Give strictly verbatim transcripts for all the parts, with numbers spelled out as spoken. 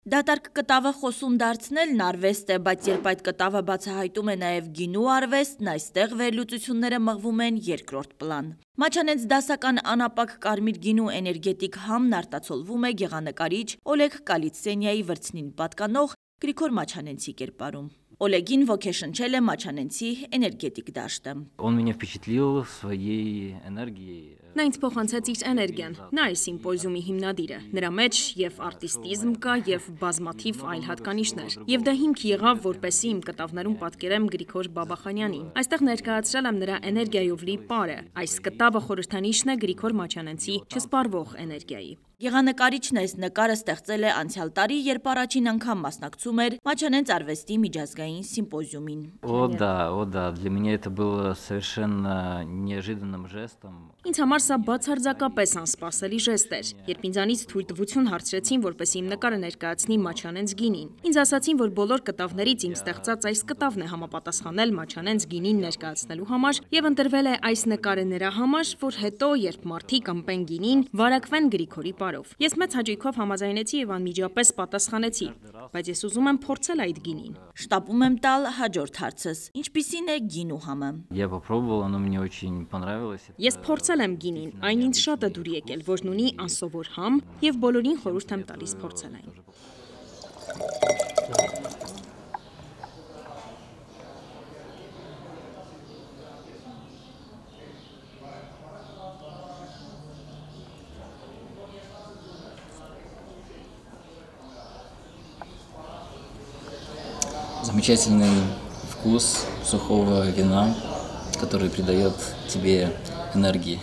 Դատարկ կտավը խոսուն դարձնելն արվեստ է, բայց երբ այդ կտավը բացահայտում է նաև գինու արվեստն, այստեղ վերլուծությունները մղվում են երկրորդ պլան։ Մաչանենց դասական անապակ կարմիր գինու էներգետիկ համն արտացոլվում է գեղանկարիչ Օլեգ Կալիցենյայի վրձնին պատկանող Գրիգոր Մաչանենցի կերպարում։ Օլեգին ոգեշնչել է Մաչանենցի էներգետիկ դաշտը։ Նա ինձ փոխանցեց իր էներգիան, նա է սիմպոզիումի հիմնադիրը, նրա մեջ և արտիստիզմ կա և բազմաթիվ այլ հատկանիշներ, և դա հիմք եղավ, որպեսզի իմ կտավներում պատկերեմ Գրիգոր Բաբախանյանին։ Այստեղ ներկայացրել եմ նրա էներգիայով լի պարը, այս կտավը խորհրդանիշն է Գրիգոր Մաչանենցի չսպառվող էներգիայի։ Գեղանկարիչն այս նկարը ստեղծել է անցյալ տարի, երբ առաջին անգամ մասնակցում էր Մաչանենց արվեստի միջազգային սիմպոզիումին։ Ինձ համար սա բացարձակապես անսպասելի ժեստ էր, երբ ինձանից թույլտվություն հարցրեցին, որպեսզի իմ նկարը ներկայացնի Մաչանենց գինին։ Ինձ ասացին, որ բոլոր կտավներից իմ ստեղծած այս կտավն է համապատասխանել Մաչանենց գինին ներկայացնելու համար, եւ ընտրվել է այս նկարը նրա համար, որ հետո, երբ մարդիկ ըմպեն գինին, վարակվեն Գրիգորի պարով։ Ես մեծ հաճույքով համաձայնեցի եւ անմիջապես պատասխանեցի, բայց ես ուզում եմ փորձել այդ գինին։ Շտապում եմ տալ հաջորդ հարցս. ինչպիսին է գինու համը։ Ես փորձել եմ գինին, այն ինձ շատ է դուր եկել, որն ունի անսովոր համ, եւ բոլորին խորհուրդ եմ տալիս փորձել այն։ Замечательный вкус сухого вина, который придает тебе энергии.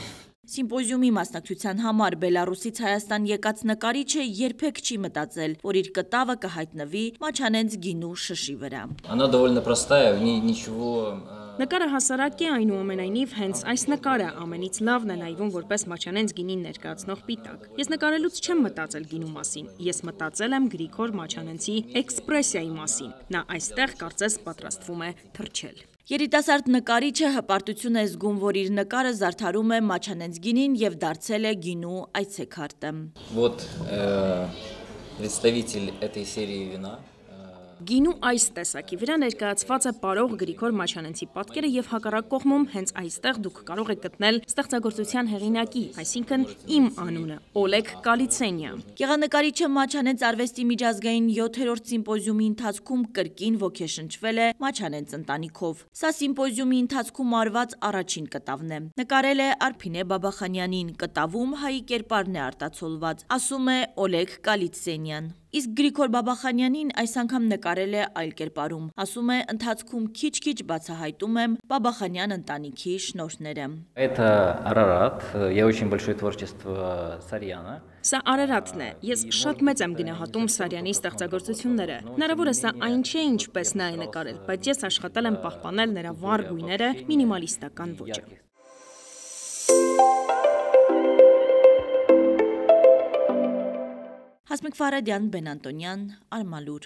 Սիմպոզիումի մասնակցության համար Բելարուսից Հայաստան եկած նկարիչը երբեք չի մտածել, որ իր կտավը կհայտնվի Մաչանենց գինու շշի վրա։ Она довольно простая, в ней ничего. Նկարը հասարակ է, այնուամենայնիվ հենց այս նկարը ամենից լավն է նայվում որպես Մաչանենց գինին ներկայացնող պիտակ։ Ես նկարելուց չեմ մտածել գինու մասին, ես մտածել եմ Գրիգոր Մաչանենցի էքսպրեսիայի մասին։ Նա այստեղ կարծես պատրաստվում է թռչել։ Երիտասարդ նկարիչը հպարտություն է զգում, որ իր նկարը զարդարում է Մաչանենց գինին եւ դարձել է գինու այցեքարտը։ Вот представитель этой серии вина. Գինու այս տեսակի վրա ներկայացված է պարող Գրիգոր Մաչանենցի պատկերը եւ հակառակ կողմում հենց այստեղ դուք կարող եք գտնել ստեղծագործության հեղինակի, այսինքն իմ անունը՝ Օլեգ Կալիցենյա։ Գեղանկարիչը Մաչանենց արվեստի միջազգային յոթերորդ սիմպոզիումի ընթացքում կրկին ոգեշնչվել է Մաչանենց ընտանիքով։ Սա սիմպոզիումի ընթացքում արված առաջին կտավն է։ Նկարել է Արփինե Բաբախանյանին, կտավում հայի կերպարն է արտացոլված, ասում է Օլեգ Կալիցենյան։ Իսկ Գրիգոր Բաբախանյանին այս անգամ նկարել է այլ կերպարում, ասում է ընթացքում քիչ-քիչ բացահայտում եմ Բաբախանյան ընտանիքի շնորհները։ Սա Արարատն է, ես շատ մեծ եմ գնահատում Սարյանի ստեղծագործությունները։ Հնարավոր է սա այն չէ, ինչպես նա է նկարել, բայց ես աշխատել եմ պահպանել նրա վառ գույները, մինիմալիստական ոճը։ Հասմիկ Ֆարադյան, Բեն Անտոնյան, Արմալուր։